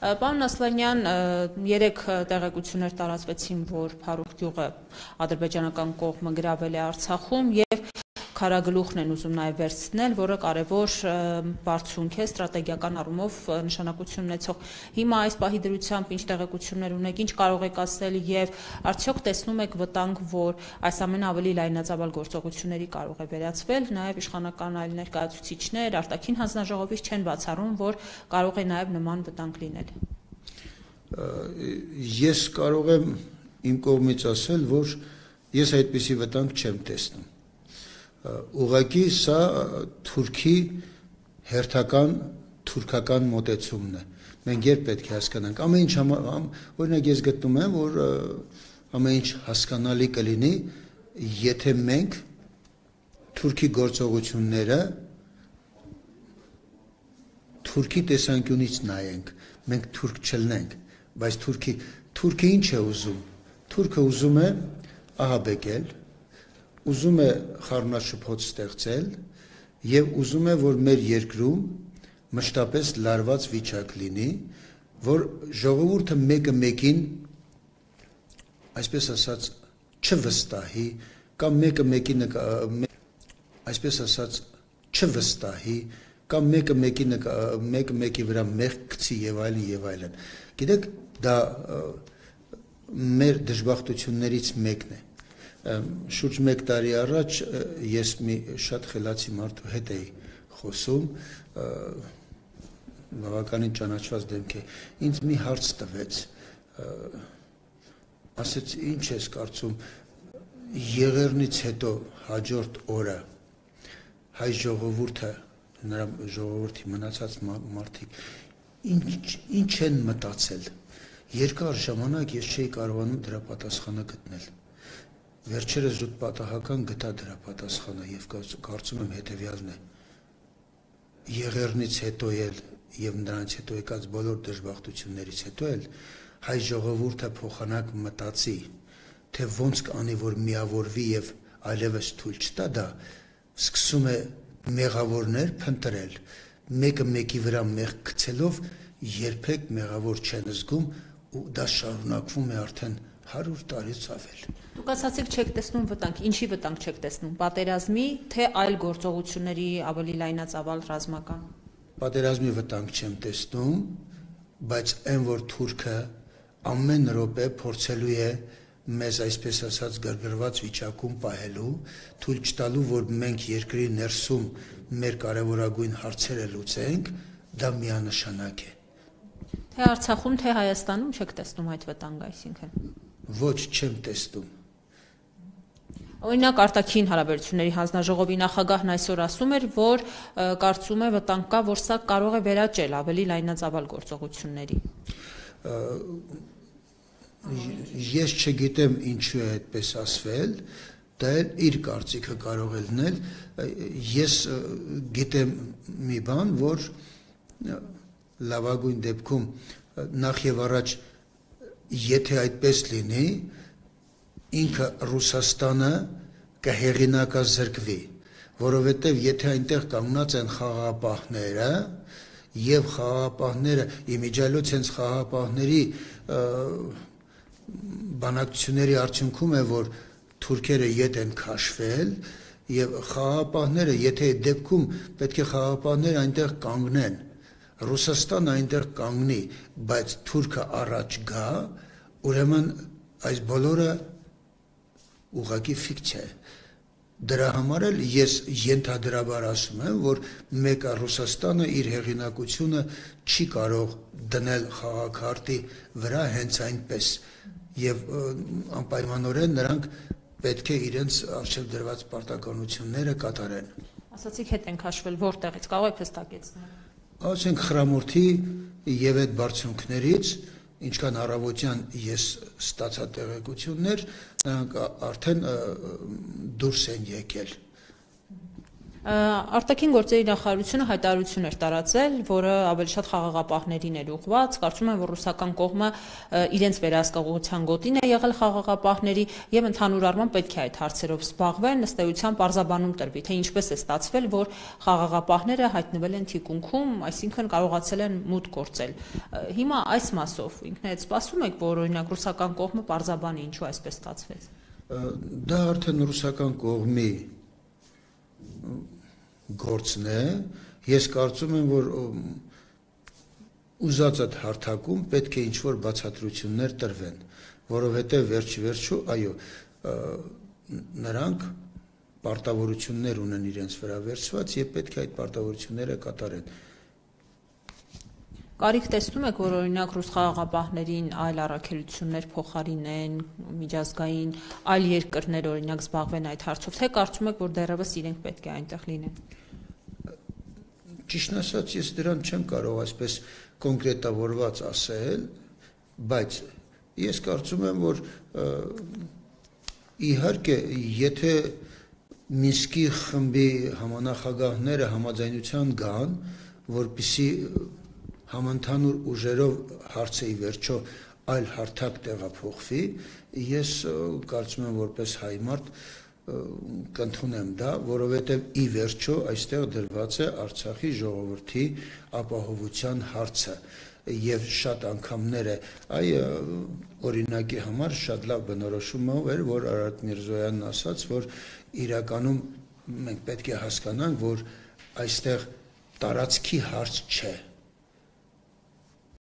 Պարոն Ասլանյան, երեք տեղեկություններ տարածվեցին, որ Փարուխ գյուղը ադրբեջանական կողմը գրավել է Արցախում եւ քարագլուխն են ուզում նաև վերցնել, որը կարևոր բարձունք է ստրատեգիական առումով նշանակություն ունեցող։ Հիմա այս պահի դրությամբ ինչ տեղեկություններ ունեք, ինչ կարող եք ասել եւ արդյոք տեսնում եք վտանգ, որ այս ամենը ավելի լայնածավալ գործողությունների կարող է վերածվել, նաև իշխանական այլ ներկայացուցիչներ, արտաքին հանձնաժողովից չեն բացառում, որ կարող է նաև նման վտանգ լինել։ Ես կարող եմ իմ կողմից ասել, որ ես այդպիսի վտանգ չեմ տեսնում։ Ուղղակի սա Թուրքի հերթական թուրքական մոտեցումն է։ Մենք երբ պետք է հասկանանք, ամեն ինչ օրինակ ես գտնում եմ, որ ամեն ինչ հասկանալի կլինի, եթե մենք Թուրքի գործողությունները Թուրքի տեսանկյունից նայենք, մենք թուրք չլնենք, բայց Թուրքը ինչ է ուզում։ Թուրքը ուզում է ահաբեկել, ուզում է խառնաշփոթ ստեղծել եւ ուզում է, որ մեր երկրում մշտապես լարված վիճակ լինի, որ ժողովուրդը մեկը մեկին, այսպես ասած, չվստահի կամ մեկը մեկի վրա մեղք գցի եւ այլն եւ այլն։ Գիտեք, դա մեր դժբախտություններից մեկն է։ Շուրջ 1 տարի առաջ ես մի շատ խելացի մարդու հետ էի խոսում, բավականին ճանաչված դեմք է, ինձ մի հարց տվեց, ասեց, ինչ ես կարծում, Եղեռնից հետո հաջորդ օրը հայ ժողովուրդը, նրա ժողովրդի մնացած մարդիկ, ինչ են մտածել, երկար ժամանակ ես չէի կարողանում դրա պատասխանը գտնել։ Վերջերս զուտ պատահական գտա դրա պատասխանը եւ կարծում եմ հետեւյալն է. Եղեռնից հետո էլ եւ նրանց հետո եկած բոլոր դժբախտություններից հետո էլ հայ ժողովուրդը փոխանակ մտածի, թե ոնց կանի, որ միավորվի եւ այլևս թույլ չտա դա, սկսում է մեղավորներ փնտրել, մեկը մեկի վրա մեղք գցելով երբեք մեղավոր չեն զգում ու դա շարունակվում է արդեն 100 տարից ավել։ Դուք ասացիք չեք տեսնում վտանգ, ինչի վտանգ չեք տեսնում, պատերազմի, թե այլ գործողությունների ավելի լայնածավալ ռազմական։ Պատերազմի վտանգ չեմ տեսնում, բայց այն որ Թուրքը ամեն րոպե փորձելու է մեզ այսպես ասած գրգռված վիճակում պահելու, թույլ չտալու, որ մենք երկրի ներսում մեր կարևորագույն հարցերը լուծենք, դա միանշանակ է։ Թե Արցախում, թե Հայաստանում չեք տեսնում այդ վտանգը, այսինքն։ Ոչ, չեմ տեսնում։ Օրինակ արտաքին հարաբերությունների հանձնաժողովի նախագահն այսօր ասում էր, որ կարծում է վտանգ կա, որ սա կարող է վերաճել ավելի լայնածավալ գործողությունների։ Ես չգիտեմ ինչու է այդպես ասվել, դա էլ իր կարծիքը կարող է լինել, ես գիտեմ մի բան, որ լավագույն դեպքում նախ եւ առաջ եթե այդպես լինի, ինքը Ռուսաստանը կհեղինակազրկվի, որովհետև եթե այնտեղ կանգնած են խաղաղապահները եւ խաղաղապահները իմիջիալոց հենց խաղաղապահների բանակցությունների արդյունքում է, որ թուրքերը ետ են քաշվել եւ խաղաղապահները, եթե այդ դեպքում պետք է խաղաղապահները այնտեղ կանգնեն, Ռուսաստանը այնտեղ կանգնի, բայց թուրքը առաջ գա, ուրեմն այս բոլորը ուղղակի ֆիկցիա է։ Դրա համար էլ ես ենթադրաբար ասում եմ, որ մեկը Ռուսաստանը իր հեղինակությունը չի կարող դնել խաղաքարտի վրա հենց այնպես եւ անպայմանորեն նրանք պետք է իրենց արժեվ դրված պարտականությունները կատարեն։ Ասացիք հետ են քաշվել, որտեղից կարող եք հստակեցնել։ Ասենք Խրամորթի եւ այդ բարձունքներից, ինչքան առավոտյան ես ստացա տեղեկություններ, նրանք արդեն դուրս են եկել։ Արտաքին գործերի նախարարությունը հայտարարություն էր տարածել, որը ավելի շատ խաղաղապահներին էր ուղղված, կարծում եմ, որ ռուսական կողմը իրենց վերահսկողության գոտին է եղել խաղաղապահների եւ ընդհանուր առմամբ պետք է այդ հարցերով զբաղվեն, ըստ էության պարզաբանում տրվի, թե ինչպես է ստացվել, որ խաղաղապահները հայտնվել են թիկունքում, այսինքն կարողացել են մուտք գործել։ Հիմա այս մասով ինքնուրույն սպասում եք, որ օրինակ ռուսական կողմը պարզաբանի ինչու այսպես ստացվեց։ Դա արդեն ռուսական կողմի գործն է, ես կարծում եմ, որ ուզած այդ հարթակում պետք է ինչ-որ բացատրություններ տրվեն, որովհետև վերջիվերջո, այո, նրանք պարտավորություններ ունեն իրենց վրա վերցված եւ պետք է այդ պարտավորությունները կատարեն։ Կարիք տեսնում եք, որ օրինակ ռուս խաղաղապահներին այլ առաքելություններ փոխարինեն, միջազգային այլ երկրներ օրինակ զբաղվեն այդ հարցով, թե կարծում եք, որ դեռևս իրենք պետք է այնտեղ լինեն։ Ճիշտն ասած, ես դրան չեմ կարող այսպես կոնկրետավորված ասել, բայց ես կարծում եմ, որ իհարկե, եթե Մինսկի խմբի համանախագահները համաձայնության գան, որպեսզի համընդհանուր ուժերով հարցը ի վերջո այլ հարթակ տեղափոխվի, ես կարծում եմ, որպես հայ մարդ կընդունեմ դա, որովհետև ի վերջո այստեղ դրված է Արցախի ժողովրդի ապահովության հարցը եւ շատ անգամներ է, այ օրինակի համար շատ լավ բնորոշում էր, որ Արարատ Միրզոյանն ասաց, որ իրականում մենք պետք է հասկանանք, որ այստեղ տարածքի հարց չէ,